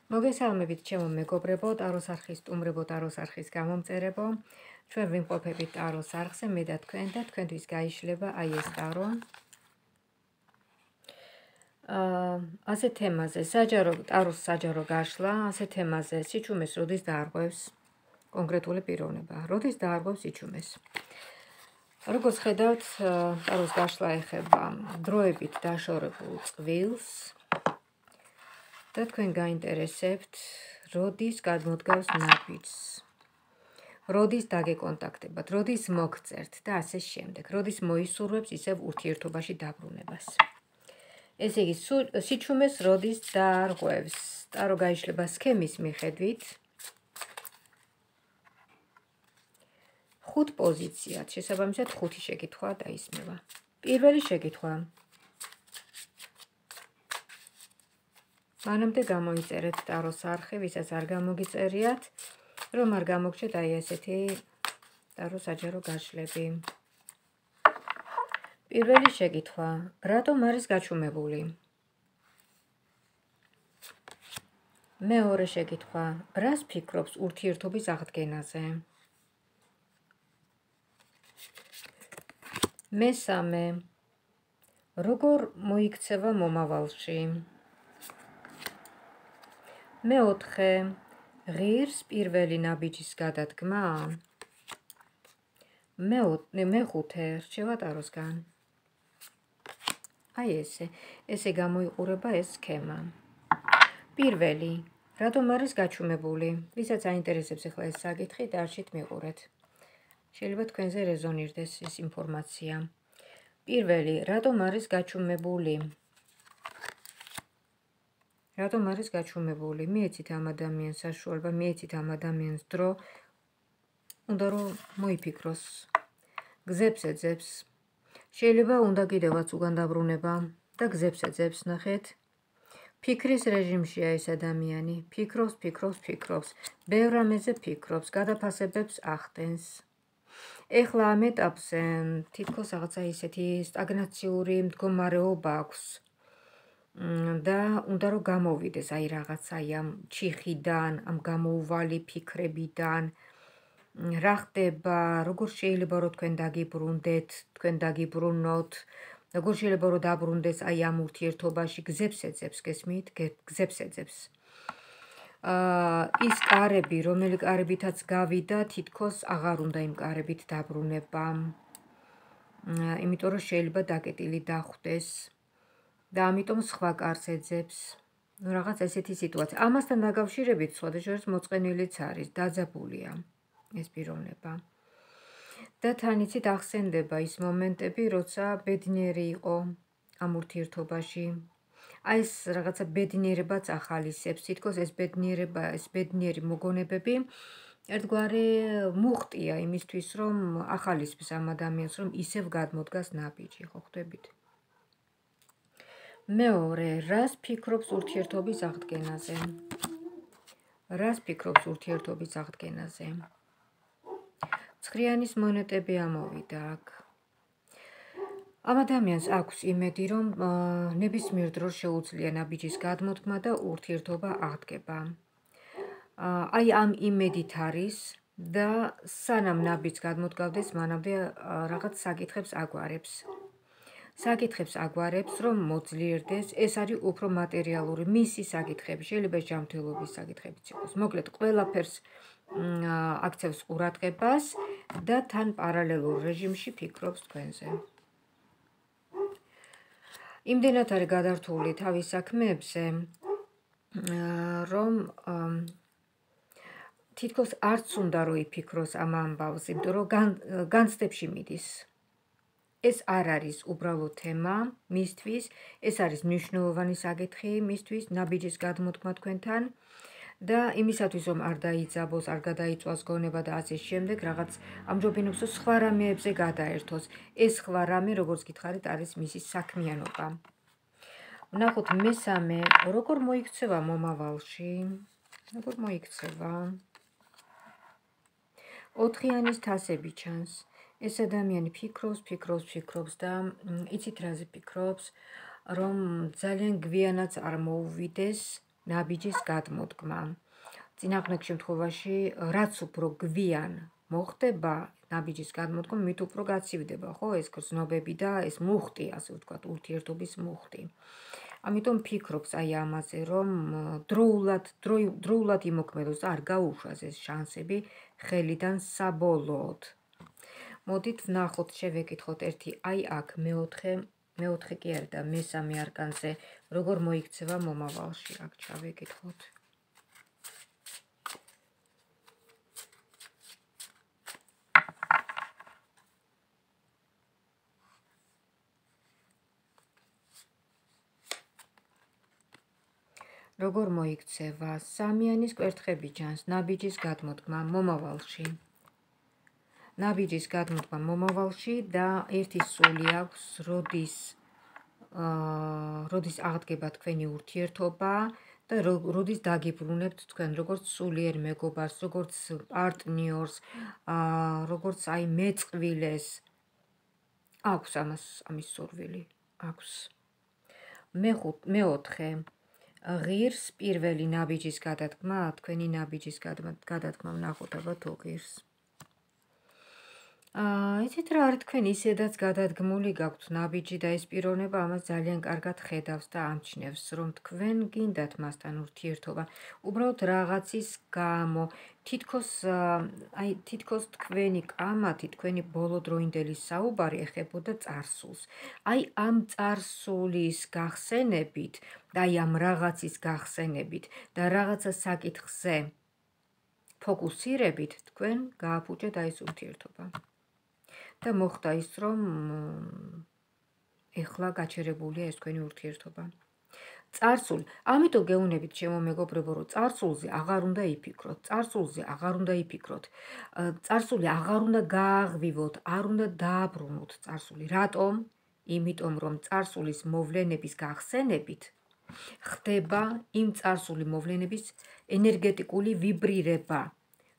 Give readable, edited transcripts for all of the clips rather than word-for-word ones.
მოგესალმებით ჩემო მეგობრებო, ტაროს არხის სტუმრებო, ტაროს არხის გამომწერებო. ჩვენ ვიმყოფებით ტაროს არხზე, მე და თქვენთვის გაიშლება აი ეს ტარო. ასე თემაზე, ტაროს საჯარო გაშლა, ასე თემაზე სიჩუმეს როდის დაარღვევს კონკრეტული პიროვნება, როდის დაარღვევს სიჩუმეს. როგორც ხედავთ, ტაროს გაშლა ეხება დროებით დაშორებულ წყვილს და თქვენ გაინტერესებთ, როდის გადმოდგავს ნაბიჯს, როდის დაგეკონტაქტებათ, როდის მოგწერთ და ასე შემდეგ, როდის მოისურვებს ისევ ურთიერთობაში დაბრუნებას. ესე იგი, სიჩუმეს როდის დაარღვევს, ტარო გაიშლება სქემის მიხედვით, 5 პოზიციად, შესაბამისად 5 შეკითხვა დაისმევა. პირველი შეკითხვა. მანამდე გამოიწერეთ ტაროს არხი, ვისაც არ გამოგიწერიათ, რომ არ გამოგჩეთ აი ესეთი ტაროს საჯარო გაშლები. პირველი შეკითხვა. რატომ არის გაჩუმებული? მეორე შეკითხვა. რას ფიქრობს ურთიერთობის აღდგენაზე? მესამე. როგორ მოიქცევა მომავალში? მეოთხე. ღირს პირველი ნაბიჯის გადადგმა? მეხუთე. რჩევა ტაროსგან. აი ესე გამოიყურება ეს სქემა. პირველი. რატომ არის გაჩუმებული? ვისაც აინტერესებს ახლა ეს საკითხი, დარჩით მიყურეთ. შეიძლება თქვენზე რეზონირდეს ეს ინფორმაცია. პირველი. რატომ არის გაჩუმებული? რატომ არის გაჩუმებული? მიეცით ამ ადამიანს საშუალება, მიეცით ამ ადამიანს დრო, უნდა რომ მოიფიქროს. გზებს ეძებს. შეიძლება უნდა კიდევაც უგან დაბრუნება და გზებს ეძებს, ნახეთ. ფიქრის რეჟიმშია ეს ადამიანი. ფიქრობს. ბევრ რამეზე ფიქრობს, გადაფასებებს ახდენს. ეხლა ამ ეტაპზე თითქოს რაღაცა ისეთი სტაგნაციური მდგომარეობა აქვს. და უნდა რომ გამოვიდეს აი რაღაცა ამ ჩიხიდან, ამ გამოუვალი ფიქრებიდან. რა ხდება, როგორ შეიძლება რომ თქვენ დაგიბრუნდეთ, თქვენ დაგიბრუნოთ, როგორ შეიძლება რომ დაბრუნდეს აი ამ ურთიერთობაში, გზებს ეძებს, გესმით? გზებს ეძებს. ის კარები, რომელი კარებითაც გავიდა, თითქოს აღარ უნდა იმ კარებით დაბრუნება. იმიტომ რომ შეიძლება დაკეტილი დახვდეს და ამიტომ სხვა კარს ეძებს. რაღაც ესეთი სიტუაცია. ამასთან დაკავშირებით სხვადასხვა მოწყენილიც არის, დაძაბულია ეს პიროვნება. და თან იცით ახსენდება ის მომენტები, როცა ბედნიერი იყო ამ ურთიერთობაში. აი ეს რაღაცა ბედნიერებაც ახალისებს, თითქოს ეს ბედნიერება, ეს ბედნიერი მოგონებები ერთგვარი მუხტია იმისთვის, რომ ახალისებს ამ ადამიანს, რომ ისევ გადმოდგას ნაბიჯი, ხო ხვდებით? მეორე, რას ფიქრობს ურთიერთობის აღდგენაზე? რას ფიქრობს ურთიერთობის აღდგენაზე? ცხრიანის მონეტები ამოვიდა აქ. ამ ადამიანს აქვს იმედი, რომ ნებისმიერ დროს შეუძლია ნაბიჯის გადმოდგმა და ურთიერთობა აღდგება. აი ამ იმედით არის და სანამ ნაბიჯს გადმოდგავდეს, მანამდე რაღაც საკითხებს აგვარებს. რომ მოძლიერდეს, ეს არის უფრო მატერიალური მისი საკითხები, შეიძლება ჯანმრთელობის საკითხებიც იყოს. მოკლედ, ყველაფერს აქცევს ყურადღებას და თან პარალელურ რეჟიმში ფიქრობს თქვენზე. იმდენად არის გადართული თავის საქმეებზე, რომ თითქოს არც უნდა რომ იფიქროს ამ ამბავზე, იმიტომ რომ განცდებში მიდის. ეს არ არის უბრალოდ თემა მისთვის, ეს არის მნიშვნელოვანი საკითხი მისთვის, ნაბიჯის გადმოდგმა თქვენთან და იმისათვის რომ არ დაიძაბოს, არ გადაიწვას გონება და ასე შემდეგ, რაღაც ამჯობინებს რომ სხვა რამეებზე გადაერთოს. ეს სხვა რამე, როგორც გითხარით, არის მისი საქმიანობა. ვნახოთ მესამე, როგორ მოიქცევა მომავალში? როგორ მოიქცევა? 4-იანის თასები ჩანს. ეს ადამიანი ფიქრობს და იცით რაზე ფიქრობს, რომ ძალიან გვიანაც არ მოუვიდეს ნაბიჯის გადმოდგმა. წინააღმდეგ შემთხვევაში, რაც უფრო გვიან მოხდება ნაბიჯის გადმოდგმა, მით უფრო გაცივდება, ხო, ეს გრძნობები და ეს მუხტი, ასე ვთქვათ, ურთიერთობის მუხტი. ამიტომ ფიქრობს აი ამაზე, რომ დროულად იმოქმედოს და არ გაუშვას ეს შანსები ხელიდან საბოლოოდ. მოდით ვნახოთ, შევეკითხოთ ერთი აი აქ მეოთხე კი არა და მესამე არკანზე, როგორ მოიქცევა მომავალში, აქ ჩავეკითხოთ. როგორ მოიქცევა სამიანის კვერთხები ჯანს, ნაბიჯის გადმოდგმა მომავალში. ნაბიჯის გადმოდგმა მომავალში და ერთი სული აქვს, როდის აღდგება თქვენი ურთიერთობა და როდის დაგიბრუნებთ თქვენ, როგორც სულიერ მეგობარს, როგორც პარტნიორს, როგორც აი მეწყვილეს. აქვს ამის სურვილი, აქვს. მეოთხე ღირს პირველი ნაბიჯის გადადგმა, თქვენი ნაბიჯის გადადგმა ვნახოთ აბა თუ ღირს. იცით რა არის თქვენ ისედაც გადადგმული გაქვთ ნაბიჯი და ეს პიროვნება ამას ძალიან კარგად ხედავს და ამჩნევს, რომ თქვენ გინდათ მასთან ურთიერთობა. უბრალოდ რაღაცის გამო, თითქოს თქვენი კამათი, თქვენი ბოლოდროინდელი საუბარი ეხებოდა წარსულს. აი ამ წარსულის გახსენებით და აი ამ რაღაცის გახსენებით და რაღაცა საკითხზე ფოკუსირებით თქვენ გააფუჭეთ აი ეს ურთიერთობა. და მოხდა ის, რომ ეხლა გაჩერებულია ეს თქვენი ურთიერთობა. წარსული, ამიტომ გეუბნებით ჩემო მეგობრებო, რომ წარსულზე აღარ უნდა იფიქროთ, წარსულზე აღარ უნდა იფიქროთ, წარსული აღარ უნდა გააღვივოთ, არ უნდა დააბრუნოთ წარსული. რატომ? იმიტომ რომ წარსულის მოვლენების გახსენებით ხდება იმ წარსული მოვლენების ენერგეტიკული ვიბრირება.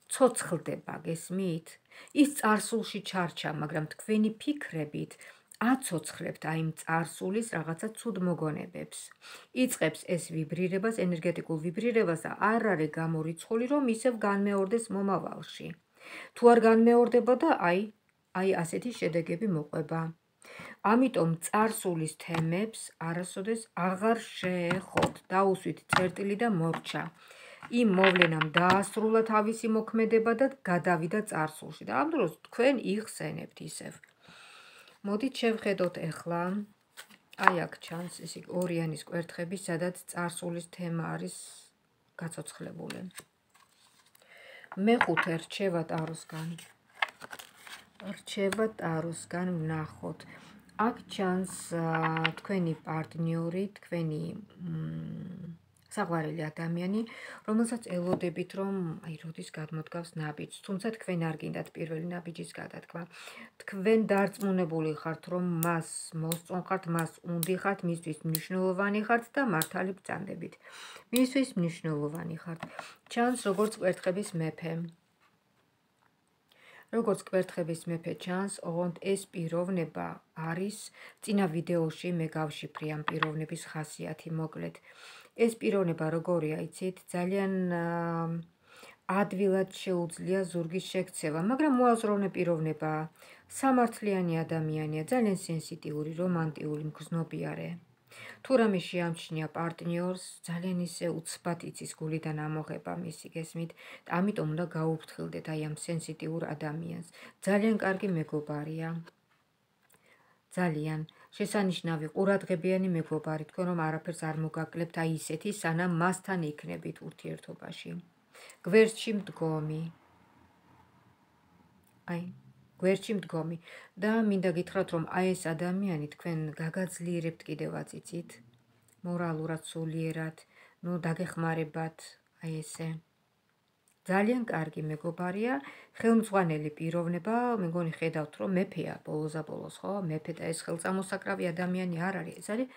ცოცხლდება, გესმით? ის წარსულში ჩარჩა, მაგრამ თქვენი ფიქრებით აცოცხლებთ აი იმ წარსულის რაღაცა ცუდ მოგონებებს. იწყებს ეს ვიბრირებას, ენერგეტიკულ ვიბრირებას და არ არის გამორიცხული, რომ ისევ განმეორდეს მომავალში. თუ არ განმეორდება და აი ასეთი შედეგები მოყვება. ამიტომ წარსულის თემებს არასოდეს აღარ შეეხოთ, დაუსვით წერტილი და მორჩა. იმ მოვლენამ დაასრულა თავისი მოქმედება და გადავიდა წარსულში და ამ დროს თქვენ იხსენებთ ისევ. მოდით შევხედოთ ახლა, აი აქ ჩანს ესე ორიანის კვერთხები, სადაც წარსულის თემა არის გაცოცხლებული. მეხუთე რჩევა ტაროსგან ვნახოთ. აქ ჩანს თქვენი პარტნიორი, თქვენი საყვარელი ადამიანი, რომელსაც ელოდებით, რომ აი როდის გადმოდგავს ნაბიჯს, თუმცა თქვენ არ გინდათ პირველი ნაბიჯის გადადგმა. თქვენ დარწმუნებული ხართ, რომ მას მოსწონხართ, მას უნდიხართ, მისთვის მნიშვნელოვანი ხართ და მართალი ბრძანდებით. მისთვის მნიშვნელოვანი ხართ. ჩანს როგორც კვერთხების მეფე. როგორც კვერთხების მეფე ჩანს, ოღონდ ეს პიროვნება არის, წინა ვიდეოში მე გავშიფრე ამ პიროვნების ხასიათი მოკლედ. ეს პიროვნება როგორია, იცით, ძალიან ადვილად შეუძლია ზურგის შექცევა, მაგრამ მოაზროვნე პიროვნებაა. სამართლიანი ადამიანია, ძალიან სენსიტიური, რომანტიული, მგრძნობიარე. თუ რამე შეამჩნია პარტნიორს, ძალიან ისე უცბად იცის გულიდან ამოღება მისი, გესმით? ამიტომ უნდა გაუფრთხილდეთ აი ამ სენსიტიურ ადამიანს. ძალიან კარგი მეგობარია. ძალიან შესანიშნავი ყურადღებიანი მეგობარი, თქვენ რომ არაფერს არ მოგაკლებთ აი ისეთი, სანამ მასთან იქნებით ურთიერთობაში. გვერდში მდგომი. გვერდში მდგომი და მინდა გითხრათ, რომ აი ეს ადამიანი თქვენ გაგაძლიერებთ კიდევაც, იცით? მორალურად, სულიერად, დაგეხმარებათ, აი ესე. ძალიან კარგი მეგობარია, ხელმძღვანელი პიროვნება, მეგონი ხედავთ, რომ მეფეა ბოლოს, ხო? მეფე და ეს ხელწამოსაკრავი ადამიანი არ არის, ეს არის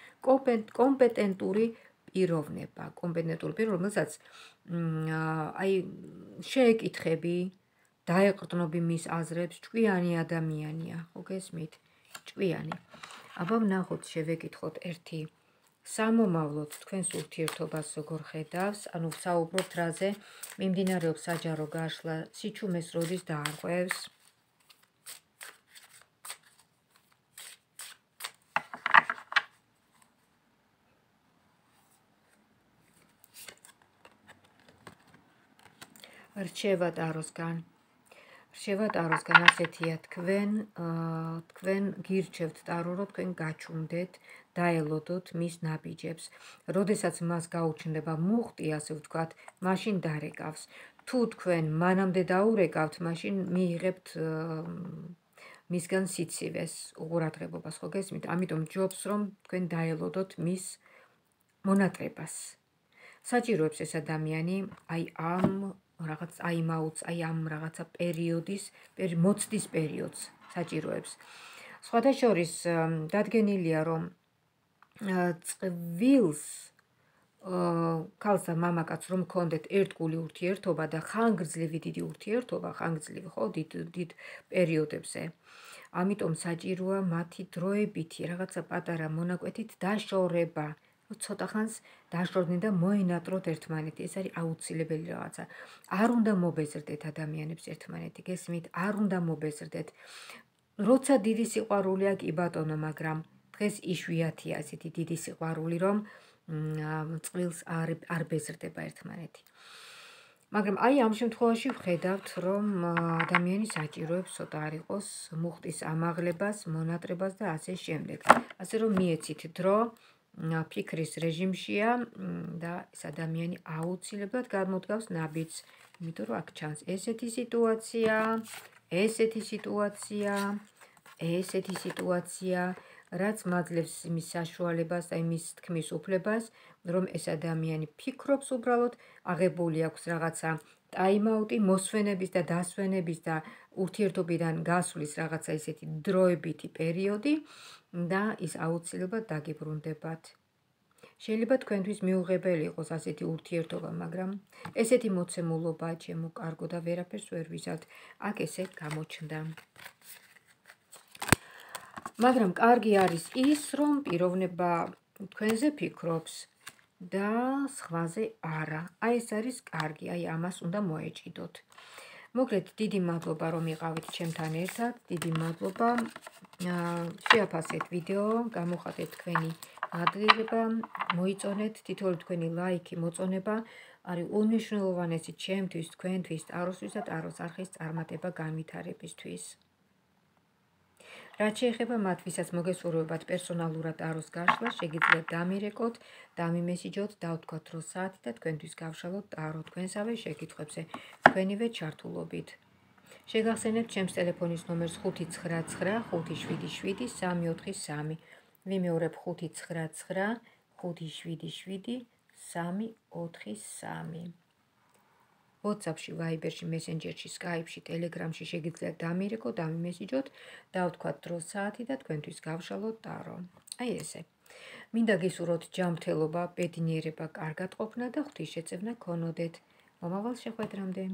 კომპეტენტური პიროვნება, რომელსაც აი შეეკითხები, დაეყრდნობი მის აზრებს, ჭკვიანი ადამიანია, ხო გესმით? ჭკვიანი. აბა ვნახოთ, შევეკითხოთ ერთი სამომავლოდ თქვენს ურთიერთობას როგორ ხედავს, ანუ საუბრობთ რაზე, მიმდინარეობს საჯარო გაშლა, სიჩუმეს როდის დაარღვევს. რჩევა ტაროსგან. რჩევა ტაროსგან ასეთია, თქვენ გირჩევთ ტარო, რომ თქვენ გაჩუმდეთ, დაელოდოთ მის ნაბიჯებს. როდესაც მას გაუჩნდება მუხტი, ასე ვთქვათ, მაშინ დარეკავს. თუ თქვენ მანამდე დაურეკავთ, მაშინ მიიღებთ მისგან სიცივეს, უყურადღებობას, ხო გესმით? ამიტომ ჯობს, რომ თქვენ დაელოდოთ მის მონატრებას. საჭიროებს ეს ადამიანი აი ამ რაღაც ამ რაღაცა პერიოდის, მოცდის პერიოდს საჭიროებს. სხვათა შორის დადგენილია, რომ წყვილს ქალს და მამაკაცს რომ ჰქონდეთ ერთგული ურთიერთობა და ხანგრძლივი დიდი ურთიერთობა, ხანგრძლივი ხო დიდ პერიოდებზე. ამიტომ საჭიროა მათი დროებითი რაღაცა პატარა მონაკვეთით დაშორება. ცოტა ხანს დაშორდნენ და მოენატროთ ერთმანეთი. ეს არის აუცილებელი რაღაცა. არ უნდა მობეზრდეთ ადამიანებს ერთმანეთი, გესმით? არ უნდა მობეზრდეთ. როცა დიდი სიყვარული აქვს, კი ბატონო, მაგრამ დღეს იშვიათია ასეთი დიდი სიყვარული, რომ წყვილს არ ბეზრდება ერთმანეთი. მაგრამ აი ამ შემთხვევაში ვხედავთ, რომ ადამიანი საჭიროებს ცოტა არ იყოს მუხტის ამაღლებას, მონატრებას და ასე შემდეგ. ასე რომ მიეცით დრო, ფიქრის რეჟიმშია და ეს ადამიანი აუცილებლად გამოდგავს ნაბიჯს, იმიტომ რომ აქ ჩანს ესეთი სიტუაცია, რაც მაძლევს იმის საშუალებას და იმის თქმის უფლებას, რომ ეს ადამიანი ფიქრობს უბრალოდ, აღებული აქვს რაღაცა ტაიმაუტი, მოსვენების და დასვენების და ურთიერთობიდან გასვლის რაღაცა ისეთი დროებითი პერიოდი და ის აუცილებლად დაგიბრუნდებათ. შეიძლება თქვენთვის მიუღებელი იყოს ასეთი ურთიერთობა, მაგრამ ესეთი მოცემულობაა ჩემო კარგო და ვერაფერს ვერ ვიზავთ. აქ ესე გამოჩნდა. მაგრამ კარგი არის ის, რომ პიროვნება თქვენზე ფიქრობს და სხვაზე არა. აი ეს არის კარგი, აი ამას უნდა მოეჭიდოთ. მოკლედ, დიდი მადლობა, რომ იყავით ჩემთან ერთად. დიდი მადლობა. შეაფასეთ ვიდეო, გამოხატეთ თქვენი მადლიერება, მოიწონეთ თითოეული თქვენი ლაიქი, მოწონება არის უნიშნულოვანესი ჩემთვის, თქვენთვის, ტაროსთვის და ტაროს არხის წარმატება განვითარებისთვის. რაც შეეხება მათ, ვისაც მოგესურვებათ პერსონალურად ტაროს გაშლა, შეგიძლიათ დამირეკოთ, დამიმესიჯოთ, დავთქვათ დრო საათი და თქვენთვის გავშალოთ ტარო თქვენსავე შეკითხვებზე, თქვენივე ჩართულობით. შეგახსენებთ ჩემს ტელეფონის ნომერს 599 577 343. ვიმეორებ 599 577 343. WhatsApp-ში, Viber-ში, Messenger-ში, Skype-ში, Telegram-ში შეგიძლიათ დამირეკოთ, დამიმესიჯოთ, დავთქვათ დრო საათი და თქვენთვის გავშალოთ ტარო. აი ესე. მინდა გისურვოთ ჯანმრთელობა, ბედნიერება, კარგად ყოფნა და ღვთისშეწევნა გქონოდეთ. მომავალ შეხვედრამდე.